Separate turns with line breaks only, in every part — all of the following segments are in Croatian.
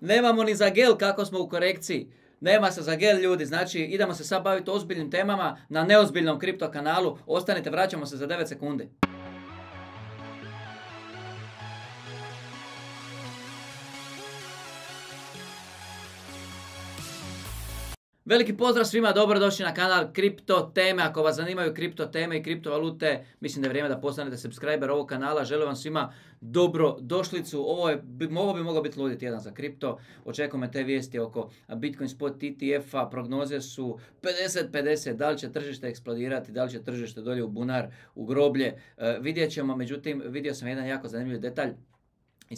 Nemamo ni za gel kako smo u korekciji. Nema se za gel, ljudi, znači idemo se sad baviti ozbiljnim temama na neozbiljnom kripto kanalu. Ostanite, vraćamo se za 9 sekundi. Veliki pozdrav svima, dobrodošli na kanal Kripto teme. Ako vas zanimaju kripto teme i kriptovalute, mislim da je vrijeme da postanete subscriber ovog kanala. Želim vam svima dobrodošlicu. Ovo bi mogao biti ludi tjedan za kripto. Očekujemo te vijesti oko Bitcoin spot ETF-a. Prognoze su 50-50. Da li će tržište eksplodirati, da li će tržište dolje u bunar, u groblje. Vidjet ćemo, međutim, vidio sam jedan jako zanimljiv detalj i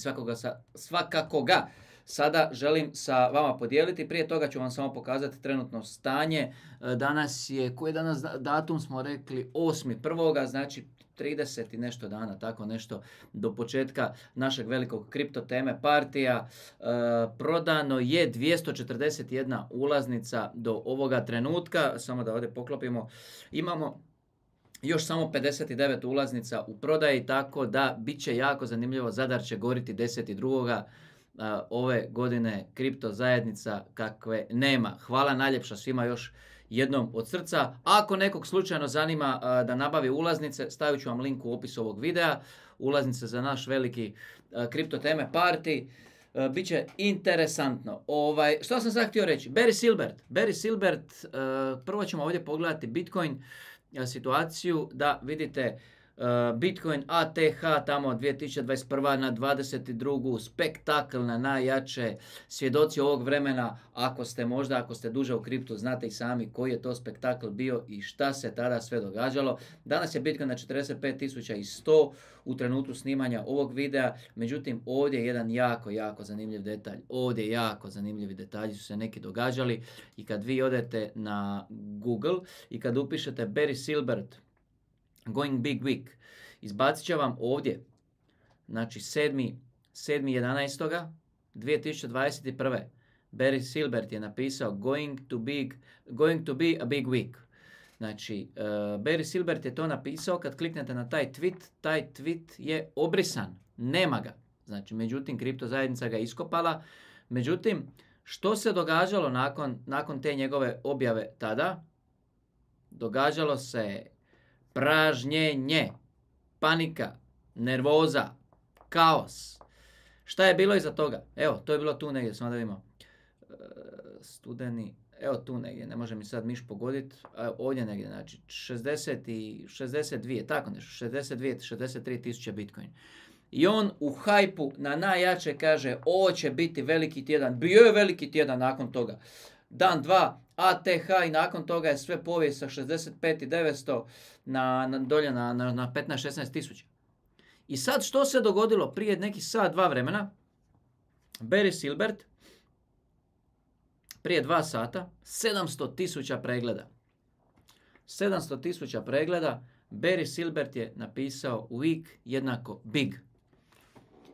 svakako ga sada želim sa vama podijeliti. Prije toga ću vam samo pokazati trenutno stanje. Danas je, koji je danas datum smo rekli, 8.1. znači 30 i nešto dana, tako nešto, do početka našeg velikog kripto teme partija. Prodano je 241 ulaznica do ovoga trenutka. Samo da ovdje poklopimo. Imamo još samo 59 ulaznica u prodaji, tako da bit će jako zanimljivo. Zadar će goriti 10.2. Ove godine kripto zajednica kakve nema. Hvala najljepša svima još jednom od srca. Ako nekog slučajno zanima da nabavi ulaznice, stavit ću vam link u opisu ovog videa. Ulaznice za naš veliki kripto teme party. Biće interesantno. Što sam sad htio reći? Barry Silbert, prvo ćemo ovdje pogledati Bitcoin situaciju, da vidite Bitcoin ATH tamo 2021. na 22. spektakl na najjače. Svjedoci ovog vremena, ako ste duže u kriptu, znate i sami koji je to spektakl bio i šta se tada sve događalo. Danas je Bitcoin na 45.100 u trenutku snimanja ovog videa. Međutim, ovdje je jedan jako zanimljiv detalj. Ovdje jako zanimljivi detalji su se neki događali i kad vi odete na Google i kad upišete Barry Silbert Going Big Week, izbacit će vam ovdje, znači 7.11.2021. Barry Silbert je napisao going to be a big week. Znači, Barry Silbert je to napisao. Kad kliknete na taj tweet je obrisan, nema ga. Znači, međutim, kripto zajednica ga iskopala. Međutim, što se događalo nakon te njegove objave tada? Događalo se pražnjenje, panika, nervoza, kaos. Šta je bilo iza toga? Evo, to je bilo tu negdje, samo da vidimo. Studeni, evo tu negdje, ne može mi sad miš pogoditi. Ovdje negdje, znači 62, tako nešto, 63 tisuće Bitcoin. I on u hajpu na najjače kaže, ovo će biti veliki tjedan. Bio je veliki tjedan nakon toga. Dan, dva, ATH i nakon toga je sve povijest sa 65.900 dolje na 15-16 tisuća. I sad što se dogodilo prije nekih sat, dva vremena? Barry Silbert prije 2 sata 700 tisuća pregleda. 700 tisuća pregleda. Barry Silbert je napisao week jednako big.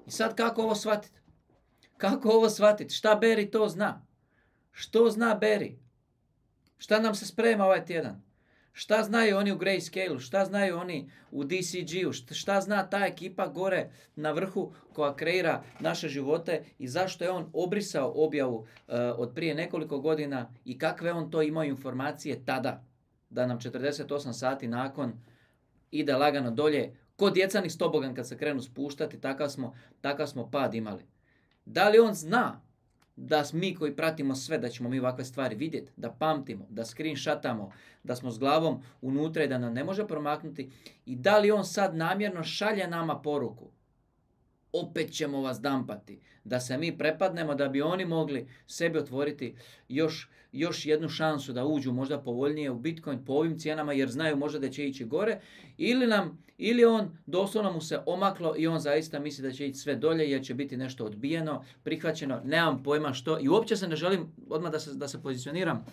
I sad kako ovo shvatiti? Kako ovo shvatiti? Šta Barry to zna? Što zna Barry? Šta nam se sprema ovaj tjedan? Šta znaju oni u Grayscale-u? Šta znaju oni u DCG-u? Šta zna ta ekipa gore na vrhu koja kreira naše živote i zašto je on obrisao objavu od prije nekoliko godina i kakve on to imao informacije tada? Da nam 48 sati nakon ide lagano dolje. Ko djecanih stobogan kad se krenu spuštati, takav smo pad imali. Da li on zna da mi koji pratimo sve, da ćemo mi ovakve stvari vidjeti, da pamtimo, da screenshotamo, da smo s glavom unutra i da nam ne može promaknuti? I da li on sad namjerno šalje nama poruku? Opet ćemo vas dampati. Da se mi prepadnemo, da bi oni mogli sebi otvoriti još jednu šansu da uđu možda povoljnije u Bitcoin po ovim cijenama jer znaju možda da će ići gore. Ili on doslovno mu se omaklo i on zaista misli da će ići sve dolje jer će biti nešto odbijeno, prihvaćeno, nemam pojma što. I uopće se ne želim, odmah da se pozicioniram,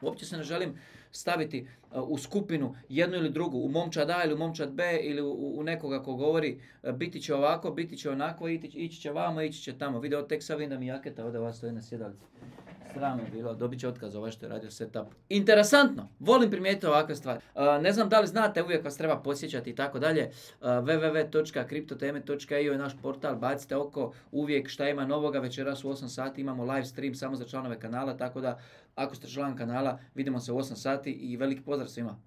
uopće se ne želim staviti u skupinu jednu ili drugu, u momčad A ili u momčad B ili u nekoga ko govori biti će ovako, biti će onako, ići će vamo, ići će tamo. Video, tek sad vidim da mi jaketa ovdje vas stoji na sjedalici. Sram je bilo, dobit će otkaz ovaj što je radio setup. Interesantno, volim primijetiti ovakve stvari. Ne znam da li znate, uvijek vas treba podsjećati i tako dalje. www.kriptoteme.io je naš portal, bacite oko uvijek šta ima novoga. Večeras u 8 sati imamo live stream samo za članove kanala, tako da ako ste član kanala vidimo se u 8 sati i veliki pozdrav svima.